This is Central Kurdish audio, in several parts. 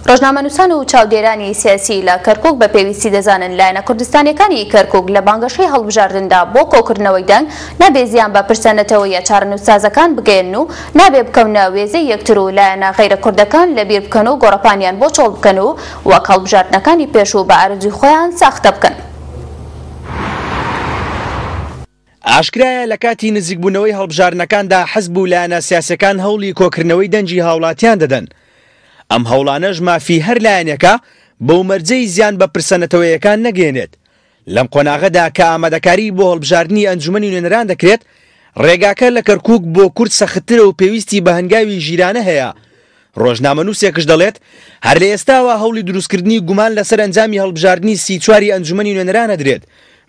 ڕۆژنامەنووسان و چاودێرانی سیاسی لە کەرکوک بە پێویستی دەزانن لایەنە کوردستانیەکانی کەرکوک لە بانگەشەی هەڵبژاردندا بۆ کۆکردنەوەی دەنگ نابێ زیان بە پرسە نەتەوەییە چارەنووسسازەکان بگەیەنن و نابێ بکەونە وێزەی یەکتر و لایەنە غەیرە کوردەکان لەبیر بکەن و گۆڕەپانیان بۆ چۆڵ بکەن و وەک هەڵبژاردنەکانی پێشوو بە ئارەزووی خۆیان ساختە بکەن. ئاشکرایە لە کاتی نزیکبوونەوەی هەڵبژاردنەکاندا حزب و لایەنە سیاسیەکان هەوڵی کۆکردنەوەی دەنگی هاوڵاتیان دەدەن. ئەم هەوڵانەش مافی هەر لایەنێکە بەو مەرجەی زیان بە پرسە نەتەوەیەکان نەگەیەنێت. لەم قۆناغەدا کە ئامادەکاری بۆ هەڵبژاردنی ئەنجومەنی نوێنەران دەکرێت، ڕێگاکە لە کەرکوک بۆ کورد سەختترە و پێویستی بە هەنگاوی ژیرانە هەیە. ڕۆژنامەنووسێکش دەڵێت، هەر لە ئێستاوە هەوڵی دروستکردنی گومان لەسەر ئەنجامی هەڵبژاردنی 34 ی ئەنجومەنی نوێنەران ئەدرێت،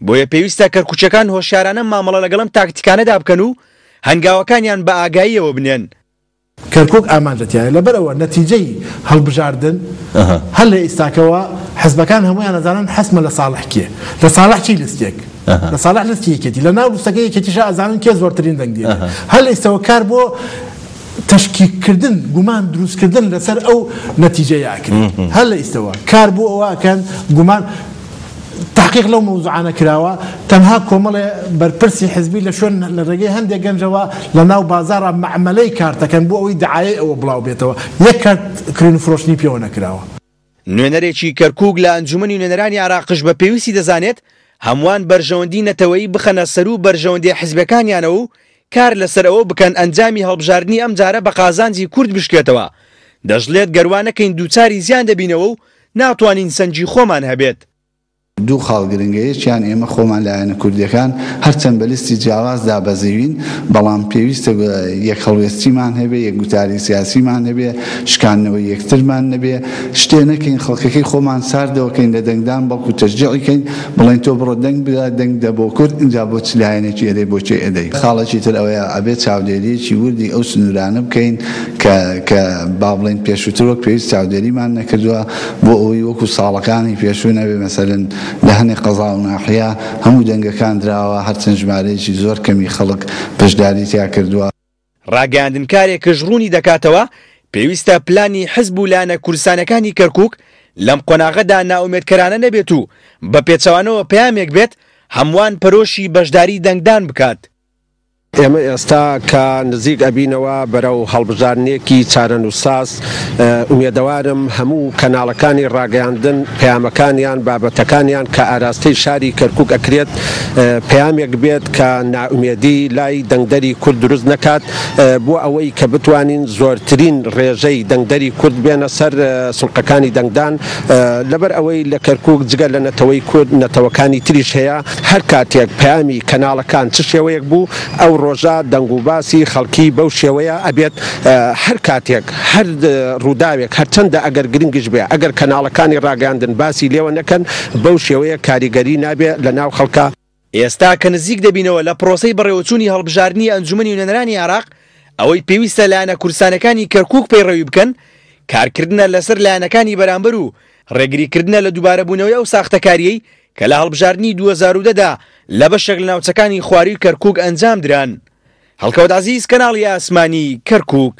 بۆیە پێویستە کەرکوکییەکان هۆشیارانە مامەڵە لەگەڵ ئەم تاکتیکانەدا بکەن و هەنگاوەکانیان بە ئاگاییەوە بنێن. کەرکوک ئامانجە تیایە، لەبەرئەوە نەتیجەی هەڵبژاردن هەر لە ئیستاکەوە حزبەکان هەموویان ئەزانن حەسمە لە ساڵح کێ لە ساڵح چی لستێک لە ساڵح لستی یەکێتی لە ناو لستەکەی یەکێتیشا ئەزانن کێ زۆرترین دەنگ دێنێ هەر لە ئیستەوە کار بۆ تەشکیک کردن گومان دروست کردن لەسەر ئەو نەتیجەیە ئەکرێت هەر لە ئیستەوە کار بۆ ئەوە ئەکەن گومان تحقیق لەو مەوزوعانە کراوە تەنها کۆمەڵێ بەرپرسی حزبی لە شوێن لە ڕێگەی هەندێک گەنجەوە لە ناو بازاڕا مەعمەلەی کارتەکەن بۆ ئەوەی دەعایەی ئەوە بڵاو بێتەوە یەک کارت کڕین و فرۆشتنی پێوە نەکراوە. نوێنەرێکی کەرکوک لە ئەنجومەنی نوێنەرانی عێراقش بە پێویستی دەزانێت هەمووان بەرژەوەندی نەتەوەیی بخەنە سەروو بەرژەوەندیە حزبیەکانیانەوە و کار لەسەر ئەوە بکەن ئەنجامی هەڵبژاردنی ئەمجارە بە قازانجی کورد بشکێتەوە، دەشڵێت گەر وا نەکەین دووچاری زیان دەبینەوە و ناتوانین سەنگی خۆمان هەبێت. دوو خاڵ گرنگە، یەکیان ئێمە خۆمان لایەنە کوردیەکان هەرچەند بە لیستی جیاواز دابەزیوین، بەڵام پێویستە یەک هەڵوێستیمان هەبێ، یەک گوتاری سیاسیمان هەبێ، شکاندنەوەی یەکترمان نەبێ، شتێ نەکەین خەڵکەکەی خۆمان ساردەوە کەین لە دەنگدان، بەڵکو تەشجیعی کەین، بڵێین تۆ بڕۆ دەنگ بدە، دەنگ بدە بۆ کورد، ئینجا بۆ چ لایەنێکی ئەدەی بۆ کێ ئەدەی. خاڵێکی تر ئەوەیە ئەبێ چاودێرییەکی وردی ئەو سنوورانە بکەین کە کە با بڵێین پێشووتر وەک پێویست چاودێریمان نەکردووە بۆ ئەوەی وەکو ساڵەکانی پێشوو نەبێ مەسەلەن لە هەنێ قەزا و ناحیە هەموو دەنگەکان دراوە هەرچەند ژمارەیەکی زۆر کەمی خەڵک بەشداری تیا کردووە. ڕاگەیاندنکارێکش ڕوونی دەکاتەوە، پێویستە پلانی حزب و لایەنە کوردستانیەکانی کەرکوک لەم قۆناغەدا نائومێدکەرانە نەبێت و بە پێچەوانەوە پەیامێک بێت هەمووان پەرۆشی بەشداری دەنگدان بکات. ئێمە ئێستا کە نزیک ئەبینەوە بەرەو هەڵبژاردنێکی چارەنووسساز، ئومێدەوارم هەموو کەناڵەکانی ڕاگەیاندن پەیامەکانیان، بابەتەکانیان کە ئاراستەی شاری کەرکوک ئەکرێت پەیامێک بێت کە نائومێدی لای دەنگدەری کورد دروست نەکات بۆ ئەوەی کە بتوانین زۆرترین ڕێژەی دەنگدەری کورد بێنە سەر سندوقەکانی دەنگدان لەبەر ئەوەی لە کەرکوک جگە لە نەتەوەی کورد نەتەوەکانی تریش هەیە هەر کاتێک پەیامی کەناڵەکان چ شێوەیەک بوو ئەو ڕۆژە دەنگ و باسی خەڵکی بەو شێوەیە ئەبێت هەر کاتێک هەر ڕووداوێک هەرچەندە ئەگەر گرنگیش بێ ئەگەر کەناڵەکانی ڕاگەیاندن باسی لێوە نەکەن بەو شێوەیە کاریگەری نابێ لە ناو خەڵکا. ئێستا کە نزیک دەبینەوە لە پرۆسەی بەڕێوەچوونی هەڵبژاردنی ئەنجومەنی نوێنەرانی عێراق، ئەوەی پێویستە لایەنە کوردستانیەکانی کەرکوک پەیڕەوی بکەن، کارکردنە لەسەر لایەنەکانی بەرامبەر و ڕێگریکردنە لە دووبارەبوونەوەی ئەو ساختەکارییەی کە لە هەڵبژاردنی 2010 دا لە بەشێک لە ناوچەکانی خوارووی کەرکوک ئەنجامدران. هەڵکەوت عەزیز، کەناڵی ئاسمانی کەرکوک.